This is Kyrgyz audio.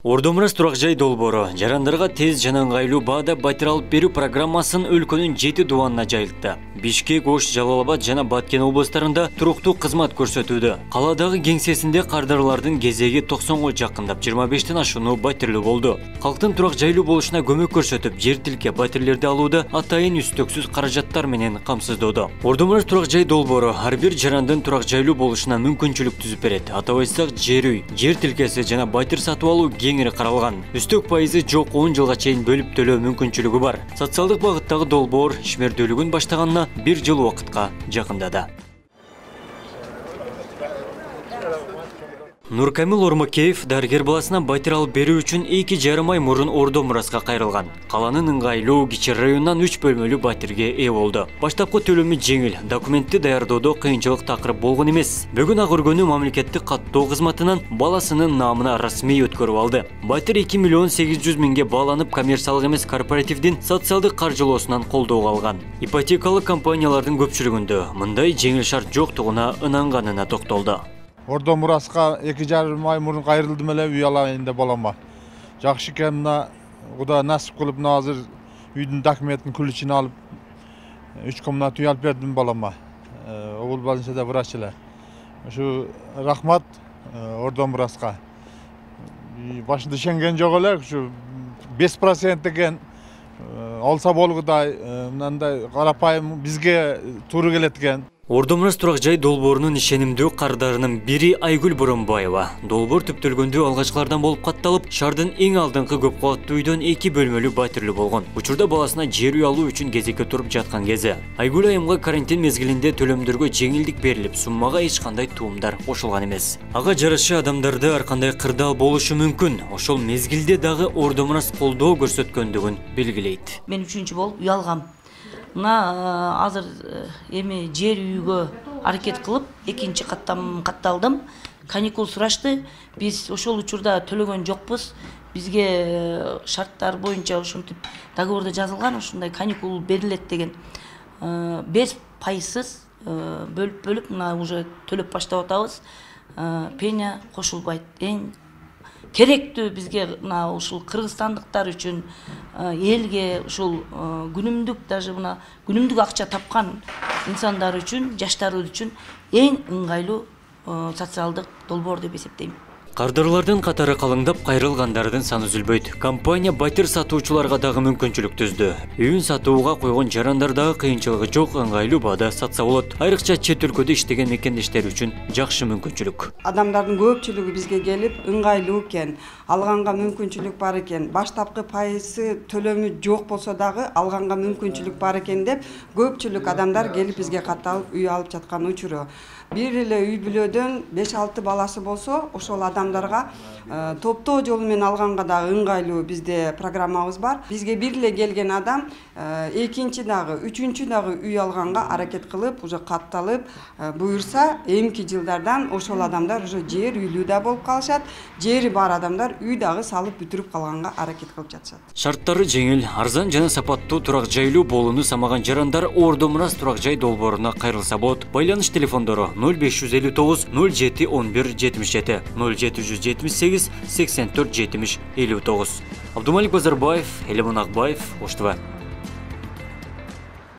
Ордомурас турак жай долбоору жарандарга тез жана ыңгайлуу баада батир алып берүү программасын өлкөнүн 7 дубанына жайылтты. Бишкек, Ош, Жалал-Абад жана Баткен областарында туруктуу кызмат көрсөтүүдө. Каладагы кеңсесинде кардарлардын кезеги 90го жакындап 25тен ашууну батирлүү болду. Калктын турак жайлуу болушуна көмөк көрсөтүп, жер тилке батирлерди алууда атайын үстөксүз каражаттар менен камсыздоодо. Ордомурас турак жай долбоору ар бир жарандын турак жайлуу болушуна мүмкүнчүлүк түзүп берет. Атап айтсак, жер үй, жер тилкеси жана батир сатып алуу кеңири каралган. Үстөк пайызы жок 10 жылга чейин бөлүп төлөө мүмкүнчүлүгү бар. Социалдык багыттагы долбоор ишмердүүлүгүн баштаганына 1 жыл убакытка жакындады. Нуркамил Ормакеев дарыгер баласына батир алып берүү үчүн 2,5 ай мурун Ордомураска кайрылган. Каланын ыңгайлуу кичи районунан 3 бөлмөлүү батирге ээ болду. Баштапкы төлөмү жеңил, документти даярдоодо кыйынчылык такырып болгон эмес. Бүгүн ак өргөнү мамлекеттик каттоо кызматынан баласынын наамына расмий өткөрүп алды. Батир 2 миллион 800 миңге бааланып, коммерциялык эмес корпоративдин социалдык каржылоосунан колдоого алган. Ипотекалык компаниялардын көпчүлүгүндө мындай жеңил шарт жоктугуна ынанганына токтолду. Ордомураска 2,5 ай мурун кайрылдым эле, үй алайын деп балама. Жакшы экен, мына Кудай насип кылып, мына азыр үйдүн документин ключин алып 3 комнат үй алып бердим балама. Обул больницада врач эле. Ушу рахмат Ордомураска. Башында ишенген жок эле, ушу 5% экен. Алса болгудай, мындай карапайым бизге туура келет экен. Ордомурас турак жай долбоорунун ишенимдүү кардарынын бири Айгүл Боронбаева. Долбоор түптөлгөндө алгачкылардан болуп катталып, шаардын эң алдыңкы көп кабаттуу үйдөн 2 бөлмөлүү батирлүү болгон. Учурда баласына жер үй алуу үчүн кезекке туруп жаткан кези. Айгүл айымга карантин мезгилинде төлөмдөргө жеңилдик берилип, суммага эч кандай туумдар кошулган эмес. Ага жараша адамдарды ар кандай кырдаал болушу мүмкүн. Ошол мезгилде дагы Ордомурас колдоо көрсөткөндүгүн белгилейт. Мен 3-чү болуп үй алгам. Мына азыр эми жер үйгө аракет кылып, 2-чи катталдым. Каникул сурашты. Биз ошол учурда төлөгөн жокпуз. Бизге шарттар боюнча ушинтип договордо жазылган, ушундай каникул берилет деген. 5% бөлүп мына уже төлөп баштап атабыз. Пеня кошулбайт. Эң керектүү бизге мына ушул кыргызстандыктар үчүн, элге ушул күнүмдүк, даже мына күнүмдүк акча тапкан инсандар үчүн, жаштар үчүн эң ыңгайлуу социалдык долбоор деп эсептейм. Кардарлардын катары калыңдап, кайрылгандардын саны үзүлбөйт. Компания батир сатуучуларга дагы мүмкүнчүлүк түздү. Үйүн сатууга койгон жарандар дагы кыйынчылыгы жок, ыңгайлуу баада сатса болот. Айрыкча чет өлкөдө иштеген мекендештер үчүн жакшы мүмкүнчүлүк. Адамдардын көпчүлүгү бизге келип, ыңгайлуу экен, алганга мүмкүнчүлүк бар экен, баштапкы пайызы төлөмү жок болсо дагы алганга мүмкүнчүлүк бар экен деп көпчүлүк адамдар келип бизге катталып үй алып жаткан учуру. Бир эле үй бүлөдөн 5-6 баласы болсо, ошол адамдарга топтоо жолу менен алганга дагы ыңгайлуу бизде программабыз бар. Бизге бир эле келген адам экинчи дагы, үчүнчү дагы үй алганга аракет кылып, уже катталып, буюрса, эмки жылдардан ошол адамдар уже жер үйлүү да болуп калышат. Жери бар адамдар үй дагы салып бүтүрүп калганга аракет кылып жатышат. Шарттары жеңил, арзан жана сапаттуу турак жайлуу болууну самаган жарандар Ордомурас турак жай долбооруна кайрылса болот. Байланыш телефондору 0559 07 11 77 0778 84 70 59. Абдумалик Базарбаев, Элемон Акбаев, Ош ТВ.